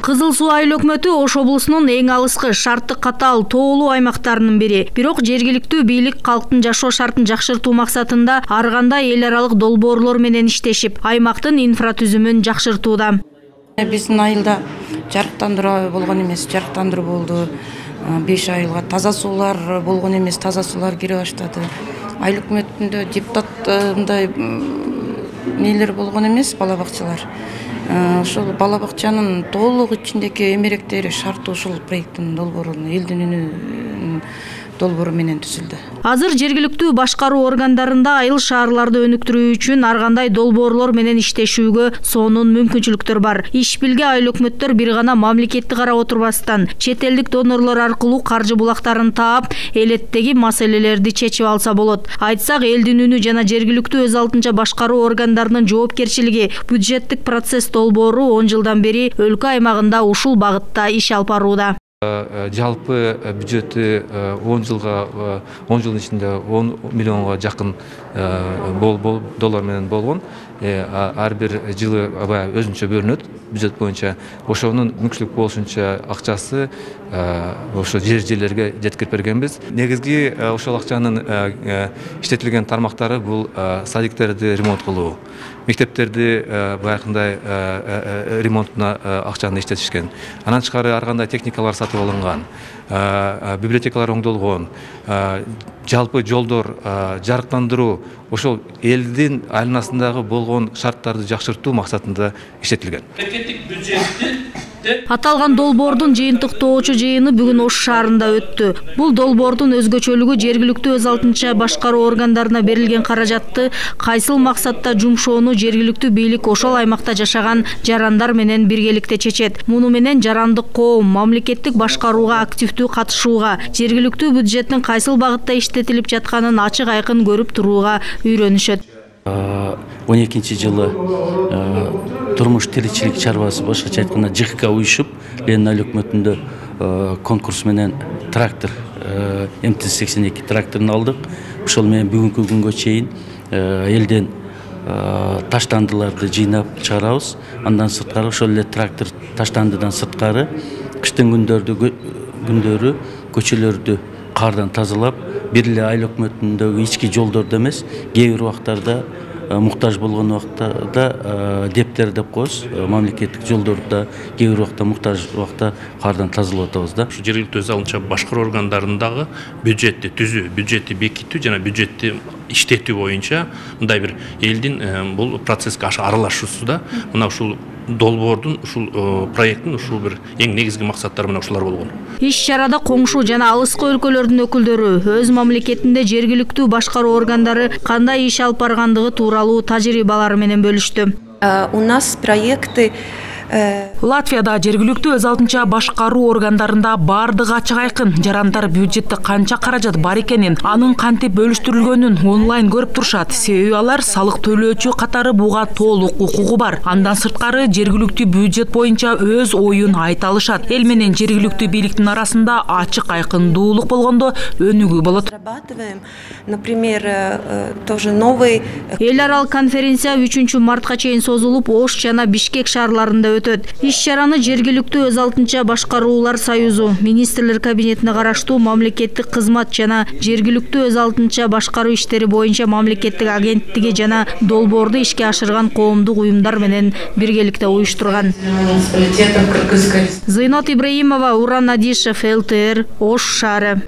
Кызыл Суу айыл өкмөтү Ош облусунун эң алыскы, шарты катаал, тоолуу аймактарынын бири. Бирок жергиликтүү бийлик калктын жашоо шартын жакшыртуу максатында ар кандай эл аралык долбоорлор менен иштешип, аймактын инфратүзүмүн жакшыртууда. Биздин айылда жарыктандыруу болгон эмес, жарыктандыруу болду. 5 айылга таза суулар болгон эмес, таза суулар кире баштады. Айыл өкмөтүндө депутат мындай нелер болгон эмес, бала бакчалар. Ошол бала бакчанын толук ичиндеги эмеректери шарты ушул проекттин долбоору, элдин үнү долбоору менен түзүлдү. Азыр жергиликтүү башкаруу органдарында айыл шаарларды өнүктүрүү үчүн ар кандай долбоорлор менен иштешүүгө сонун мүмкүнчүлүктөр бар. Иш билге айыл өкмөттөр бир гана мамлекетти карап отурбастан, чет элдик донорлор аркылуу каржы булактарын таап, элеттеги маселелерди чечип алса болот. Айтсак, элдин үнү жана жергиликтүү өз алдынча башкаруу органдарынын жоопкерчилиги бюджеттик процесс долбоору 10 жылдан бери өлкө аймагында ушул багытта иш алып барууда. Жалпы бюджети 10 жылдын ичинде 10 миллионго жакын доллар менен болгон. Ар бир жылы өзүнчө бөлүнөт бюджет боюнча. Ошонун мүмкүнчүлүк болушунча акчасы ошо жерлерге жеткирип бергенбиз. Негизги ошол акчанын иштетилген тармактары бул садиктерди ремонт кылуу, мектептерди баягындай ремонтуна акчаны иштетишкен. Анан тышкары ар кандай техникалар сатып алынган, библиотекалар оңдолгон, жалпы жолдор, жарыктандыруу ошол элдин айланасындагы болгон шарттарды жакшыртуу максатында иштетилген. Аталган долбоордун жыйынтыктоочу жыйыны бүгүн Ош шаарында өттү. Бул долбоордун өзгөчөлүгү жергиликтүү өз алдынча башкаруу органдарына берилген каражатты кайсыл максатта жумшоону жергиликтүү бийлик ошол аймакта жашаган жарандар менен биргеликте чечет. Муну менен жарандык коом мамлекеттик башкарууга активдүү катышууга, жергиликтүү бюджеттин кайсыл багытта иштетилип жатканын ачык айкын көрүп турууга үйрөнүшөт. 12-жылы турмуш тиричилик чарбасы башкача айтканда ЖКХ уюшуп, Ленин айыл өкмөтүндө конкурс менен трактор МТ-82 тракторун алдык. Ошол менен бүгүнкү күнгө чейин элден таштандыларды жыйнап чыгарабыз. Андан сырткары ошол эле трактор таштандыдан сырткары кыштын күндөрү көчөлөрдү кардан тазалап, бир эле айыл өкмөтүндөгү ички жолдордо эмес, кээ бир убактарда муктаж болгон убакта дептер деп коебуз, мамлекеттик жолдордо кээ бир убакта муктаж убакта кардан тазалап атабыз да. Жергиликтүү өз алдынча башкаруу органдарындагы бюджетти түзүү, бюджетти бекитүү жана бюджетти иштетүү боюнча мындай бир элдин бул процесске аралашуусу мына ушул долбоордун, ушул проекттин ушул бир эң негизги максаттары мына ушулар болгон. Иш чарада коңшу жана алыскы өлкөлөрдүн өкүлдөрү өз мамлекетинде жергиликтүү башкаруу органдары кандай иш алып баргандыгы тууралуу тажрыйбалары менен бөлүштү. У нас проекты Латвияда жергиликтүү өз алдынча башкаруу органдарында бардыгы ачык айкын. Жарандар бюджетте канча каражат бар экенин, анын кантип бөлүштүрүлгөнүн онлайн көрүп турушат. Себеби алар салык төлөөчү катары буга толук укугу бар. Андан сырткары жергиликтүү бюджет боюнча өз оюн айта алышат. Эл менен жергиликтүү бийликтин арасында ачык айкындуулук болгондо өнүгүү болот. Например, тоже новый Эл аралык конференция 3 мартка чейин созулуп, Ош жана Бишкек шаарларында өтөт. Иш чараны жергиликтүү өз алдынча башкаруулар союзу, министрлер кабинетине караштуу мамлекеттик кызмат жана жергиликтүү өз алдынча башкаруу иштери боюнча мамлекеттик агенттиги жана долбоорду ишке ашырган коомдук уюмдар менен биргеликте уюштурган. Зыйнот Ибраимова, Уран Надишев, ЛТР, Ош шаары.